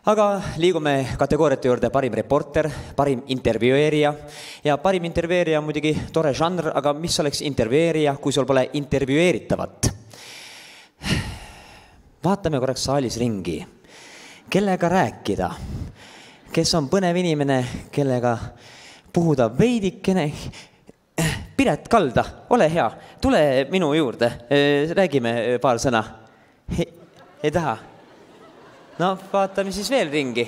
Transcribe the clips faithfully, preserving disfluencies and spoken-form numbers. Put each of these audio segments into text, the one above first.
Aga liigume kategooriate juurde parim reporter, parim intervjueerija ja parim intervjueerija on muidugi tore žanr, aga mis oleks intervjueerija, kui sul pole intervjueeritavat? Vaatame korraks saalis ringi. Kellega rääkida? Kes on põnev inimene, kellega puhuda veidikene? Piret Kalda, ole hea, tule minu juurde, räägime paar sõna. Ei, ei taha? No, vaatame siis veel ringi.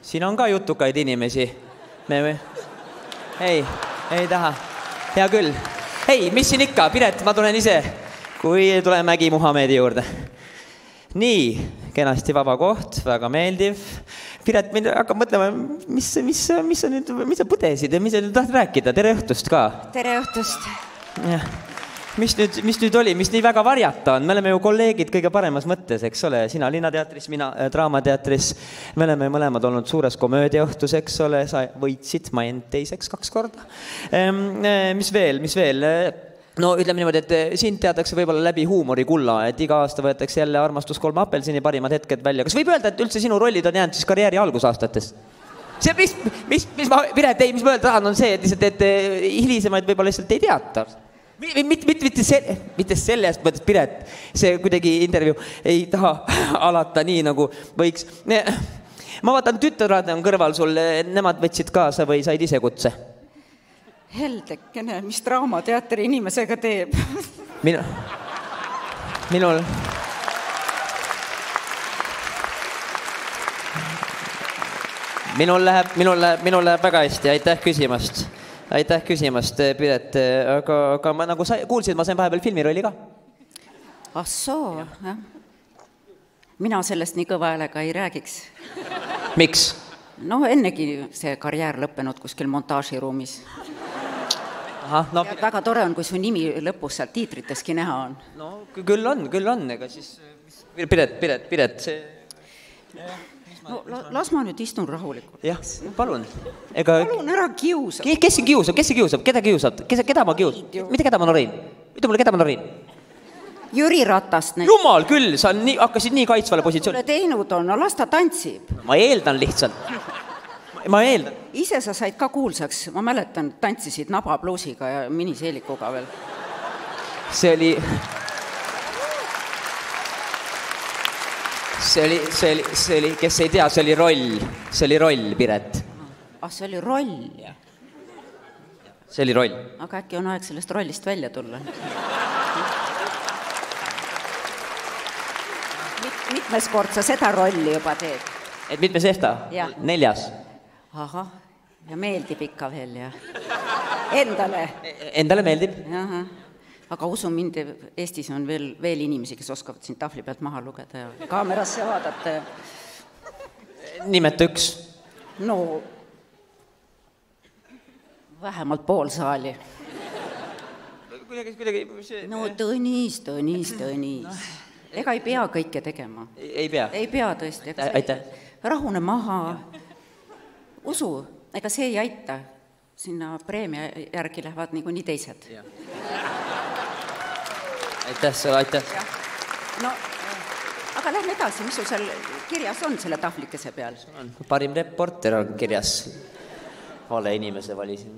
Siin on ka jutukaid inimesi. Me... Ei, ei taha. Hea küll. Ei, mis siin ikka? Piret, ma tulen ise, kui tule Mägi Muhamedi juurde. Nii, kenasti vaba koht, väga meeldiv. Piret, mind hakkab mõtlema, mis, mis, mis sa nüüd, mis sa põdesid ja mis sa nüüd tahtid rääkida? Tere õhtust ka. Tere õhtust. Jah. Mis nüüd, mis nüüd oli, mis nii väga varjata on? Me oleme ju kolleegid kõige paremas mõttes, eks ole? Sina Linnateatris, mina Draamateatris. Me oleme mõlemad olnud suures komöödiaõhtus, eks ole? Sa võitsid, ma end teiseks kaks korda. Mis veel, mis veel? No ütleme niimoodi, et siin teatakse võib-olla läbi huumorikulla, et iga aasta võetakse jälle Armastus kolm apelsini parimad hetked välja. Kas võib öelda, et üldse sinu rollid on jäänud siis karjääri algusaastates? See, mis, mis, mis ma, Piret, ei, mis ma öelda tahan, on see, et, lihtsalt, et hilisemaid võib-olla lihtsalt ei teata. Mitte, mitte, mitte, selle, mitte sellest mõttes, Piret, see kuidagi intervjuu ei taha alata nii, nagu võiks. Ma vaatan, tütarad on kõrval sul, nemad võtsid kaasa või said ise kutse? Heldekene, mis Draamateatri inimesega teeb? Minu, minul... Minul läheb, minul läheb, minul läheb väga hästi, aitäh küsimast. Aitäh küsimast, Piret, aga, aga ma, nagu sa kuulsid, ma sain vahepeal filmirolli ka. Ah soo, jah. Mina sellest nii kõva häälega ei räägiks. Miks? No ennegi see karjäär lõppenud kuskil montaažiruumis. Aha, no... Ja väga tore on, kui su nimi lõpus seal tiitriteski näha on. No küll on, küll on, ega siis... Piret, Piret, Piret, see... No, las ma nüüd istun rahulikult. Jah, palun. Ega... Palun ära kiusab. Kes siin kiusab? Kes siin kiusab? Keda kiusab? Kes, keda ma kiusab? Mitte keda ma norin? Ütle mulle, keda ma norin? Jüri Ratast. Jumal küll, sa nii, hakkasid nii kaitsvale positsiooni. Tule teinud on, no las ta tantsib. Ma eeldan lihtsalt. Ma eeldan. Ise sa said ka kuulsaks. Ma mäletan, tantsisid nabapluusiga ja miniseelikuga veel. See oli... See oli, see, oli, see oli, kes ei tea, see oli roll. See oli roll, Piret. Ah, see oli roll? See oli roll. Aga äkki on aeg sellest rollist välja tulla? Mitmes kord sa seda rolli juba teed? Et mitmes ehta? Ja. Neljas. Aha, ja meeldib ikka veel, ja. Endale? Endale meeldib. Aha. Aga usu mind, Eestis on veel, veel inimesi, kes oskavad siin tahvli pealt maha lugeda ja kaamerasse vaadata. Nimeta üks. No, vähemalt pool saali. Kuidagi, kuidagi... No, Tõnis, Tõnis, Tõnis. Ega ei pea kõike tegema. Ei pea? Ei pea tõesti. Aitäh. Rahune maha. Usu, ega see ei aita. Sinna preemia järgi lähevad nii kui nii teised. Jah. Aitäh, see aitäh. No, aga lähme edasi, mis sul seal kirjas on selle tahvlikese peal? Parim reporter on kirjas. Vale inimese valisin.